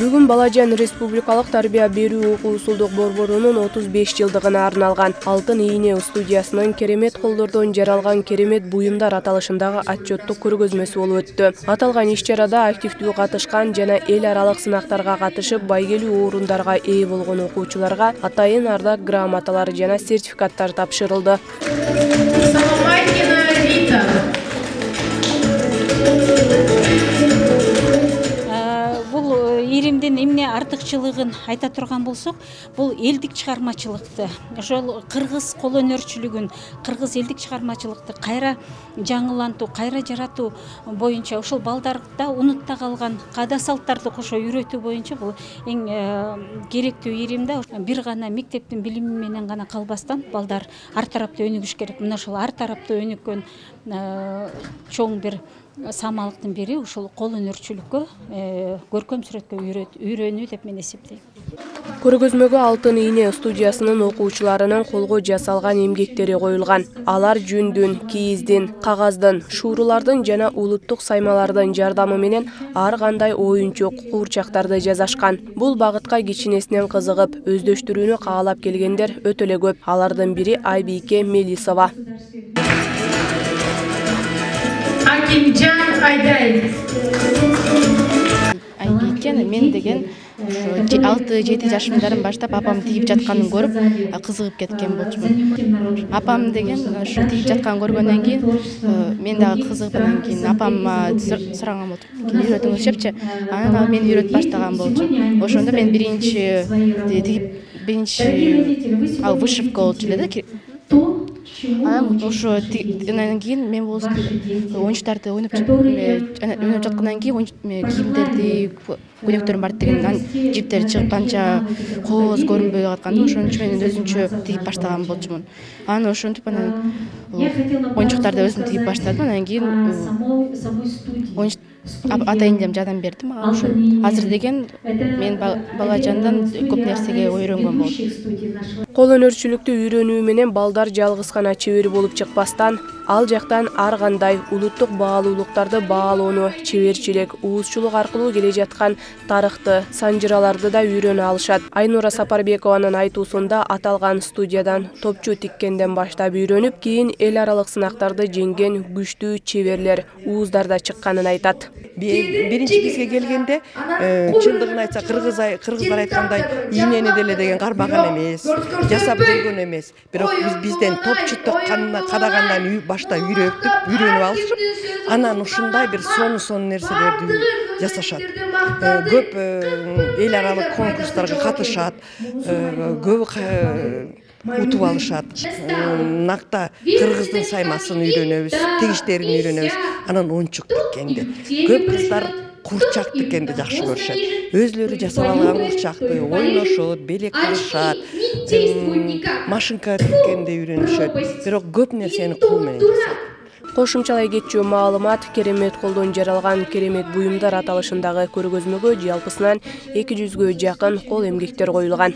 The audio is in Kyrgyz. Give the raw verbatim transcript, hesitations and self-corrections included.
Бүгүн Балажан Республикалык тарбия берүү окуу усулдук борборунун отуз беш жылдыгына арналган Алтын ийне студиясынын керемет колдордон жаралган керемет буюмдар аталышындагы отчеттук көргөзмөсү болуп өттү. Аталган иш-чарада активдүү катышкан жана эл аралык сынактарга катышып байгелүү орундарга ээ болгон окуучуларга атайын ардак грамоталар жана сертификаттар тапшырылды. Иримдин эмне артыкчылыгын айта турган болсок, бул элдик чыгармачылыкты, ошол кыргыз кол өнөрчүлүгүн, кыргыз элдик чыгармачылыкты кайра жаңылантуу, кайра жаратуу боюнча, ошол балдарда унутта калган каада салттарды кошо үйрөтүү боюнча бул эң керектүү иримде. Бир гана мектептин билими менен гана калбастан балдар ар тараптуу өнүгүш керек. Мына ошол ар тараптуу өнүккөн чоң бир самалыктын бири ушул кол өнөрчүлүккө, көркөм сүрөткө үйрөнүү деп мен эсептейм. Көргөзмөгө Алтын ийне студиясынын окуучуларынын колго жасалган эмгектери коюлган. Алар жүндүн, кийиздин, кагаздын, шуурулардын жана улуттук саймалардын жардамы менен ар кандай оюнчук, куурчактарды жасашкан. Бул багытка кичинесинен кызыгып, өздөштүрүүнү каалап келгендер өтө эле көп. Алардын бири Айбике Мелисова. Акимжан Айдаев. Айбике мен деген алты жети жашымдан баштап апам тигип жатканын көрүп кызыгып кеткен болчумун. Апам деген ушу тигип жатканын көргөндөн кийин мен дагы кызыгып, андан кийин апама сураган болчумун. Үйрөтүңүзчү. Анан мен үйрөтүп баштаган болчумун. Ошондо мен биринчи тигип биринчи ал вышивка болчу эле да. Анан ошо андан кийин мен болсо оюнчуктарды ойноп ойноп жаткандан кийин кийимдерди, көйнөктөрүм бар деген, анан жиптери чыгып канча кооз көрүнбөй атканда ошон үчүн мен өзүмчө тигип баштаган болчумун. Анан ошентип анан оюнчуктарды өзүм тигип баштадым. Андан кийин атайын жардам берди мага. Ошо азыр деген мен Балажандан көп нерсеге үйрөнгөн болдум. Кол өнөрчүлүктү үйрөнүү менен балдар жалгыз гана чебер болуп чыкпастан, ал жактан ар кандай улуттук баалуулуктарды баалоону, чеберчилик, уузчулук аркылуу келе жаткан тарыхты, санжыраларды да үйрөнө алышат. Айнура Сапарбекованын айтуусунда аталган студиядан топчу тиккенден баштап үйрөнүп, кийин эл аралык сынактарды жеңген күчтүү чеберлер, ууздар да чыкканын айтат. Биринчи бизге келгенде чындыгын айтса кыргыздар айткандай ийнени деле деген кармаган эмес, жасап көргөн эмес. Бирок биз бизден топчу кадагандан башта үйрөтүп, үйрөнүп алышып, анан ушундай бир сону-сону нерселерди жасашат. Көп эл аралык конкурстарга катышат, көп утуп алышат. Накта кыргыздын саймасын үйрөнөбүз, тигиштерин үйрөнөбүз. Анан оюнчук тиккенди. Көп кыздар курчак тиккенди жакшы көрүшөт. Өзлөрү жасап алган курчакты ойношот, белек кылышат, машинка тиккенди үйрөнүшөт. Бирок көп нерсени кол менен жасайт. Кошумчалай кетчү маалымат керемет колдон жаралган керемет буюмдар аталышындагы көргөзмөгө жалпысынан эки жүзгө жакын кол эмгектер коюлган.